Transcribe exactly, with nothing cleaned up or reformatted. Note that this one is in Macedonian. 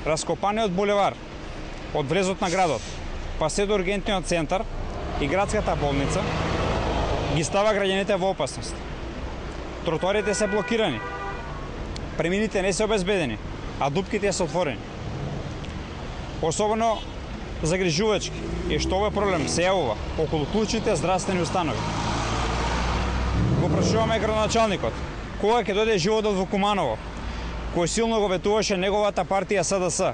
раскопаниот булевар од влезот на градот, па се до ургентниот центар и градската болница, ги става граѓаните во опасност. Тротоарите се блокирани, премините не се обезбедени, а дупките се отворени. Особено загрижувачки е што овој проблем се јавува околу клучните здравствени установи. Го прашуваме градоначалникот кога ќе дојде животот во Куманово, кој силно го ветуваше неговата партија С Д С,